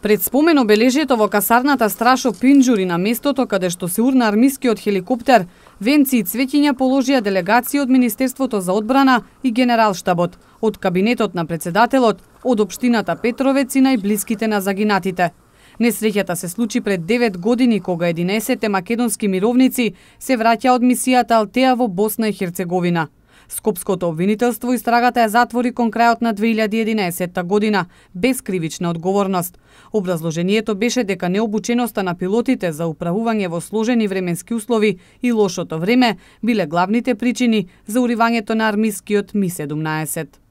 Пред спомен обележието во касарната Страшо Пинџури на местото каде што се урна армискиот хеликоптер, венци и цвеќиња положија делегации од Министерството за одбрана и Генералштабот, од кабинетот на председателот, од општината Петровец и најблиските на загинатите. Несреќата се случи пред 9 години кога 11 македонски мировници се враќа од мисијата Алтеа во Босна и Херцеговина. Скопското обвинителство истрагата ја затвори кон крајот на 2011 година, без кривична одговорност. Образложението беше дека необученоста на пилотите за управување во сложени временски услови и лошото време биле главните причини за уривањето на армискиот Ми-17.